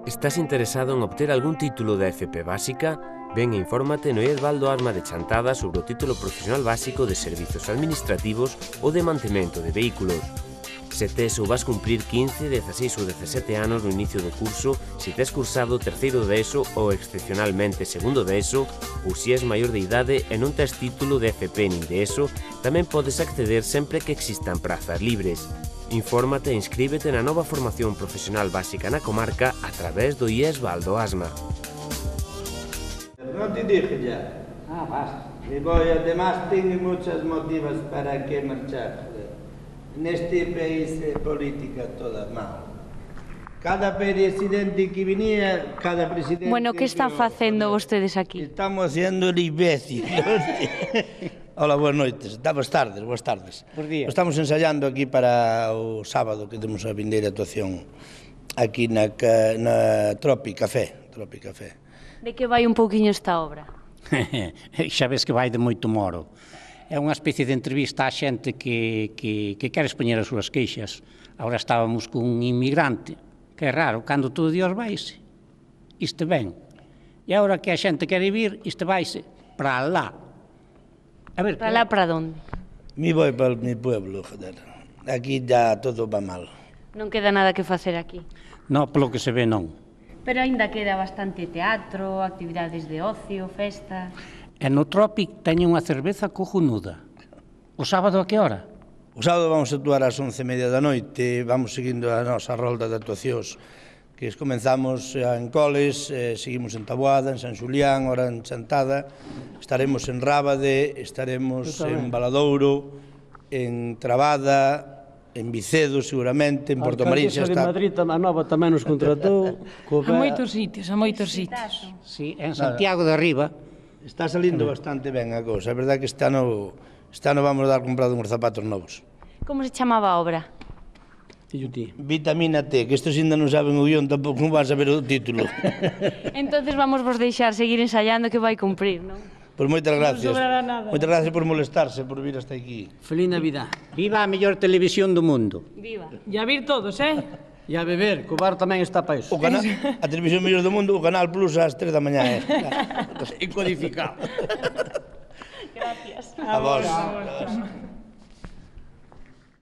Estás interesado en obter algún título de FP básica? Ven e infórmate no IES Baldo Asma de Chantada sobre o título profesional básico de Servizos Administrativos ou de Mantemento de Vehículos. Se tes ou vas cumprir 15, 16 ou 17 anos no inicio do curso, se tes cursado terceiro de ESO ou excepcionalmente segundo de ESO, ou se és maior de idade e non tes título de FP nin de ESO, tamén podes acceder sempre que existan prazas libres. Infórmate e inscríbete na nova formación profesional básica na comarca a través do IES Baldo Asma. Non te dije ya. Basta. Y voy, además tengo muchos motivos para que marchar. Neste país política toda mal. Cada presidente que venía, cada presidente... Bueno, que están facendo vostedes aquí? Estamos haciendo el imbécil. Hola, boas noites. Boas tardes. Bos días. Estamos ensayando aquí para o sábado que temos a vindeira actuación aquí na Tropi Café. De que vai un pouquiño esta obra? Xa ves que vai de moito moro. É unha especie de entrevista á xente que quere expoñer as súas queixas. Agora estábamos cun inmigrante, que é raro, cando todo Dios vaise, isto ven. E agora que a xente quere vir, isto vaise para lá. A ver, Para lá, para onde? Me voy para mi pueblo, joder. Aquí ya todo va mal. Non queda nada que facer aquí. non, polo que se ve non. Pero aínda queda bastante teatro, actividades de ocio, festas... E no Tropic teñen unha cerveza cojonuda. O sábado a que hora? O sábado vamos a actuar ás 11:30 da noite, vamos seguindo a nosa rolda de actuacións que comenzamos en Coles, seguimos en Taboada, en San Xulián, ora en Chantada, estaremos en Rábade, estaremos en Valadouro, en Trabada, en Vicedo seguramente, en Porto Marín xa está. A Madrid a nova tamén nos contratou. A moitos sitios. Sí, en Santiago de Arriba. Está salindo bastante ben a cousa, é verdade que este ano vamos dar comprado uns zapatos novos. Como se chamaba a obra? Vitamina T, que estes ainda non saben o guión, tampouco non van saber o título. Entonces vamos vos deixar seguir ensaiando que vai cumprir, non? Pois moitas gracias. sobrará nada. Moitas gracias por molestarse, por vir hasta aquí. Feliz Navidad. Viva a mellor televisión do mundo. Viva! E a vir todos, E a beber, que o bar tamén está para iso. A televisión mellor do mundo, o Canal Plus ás 3 da mañá. E codificado. Gracias. A vos.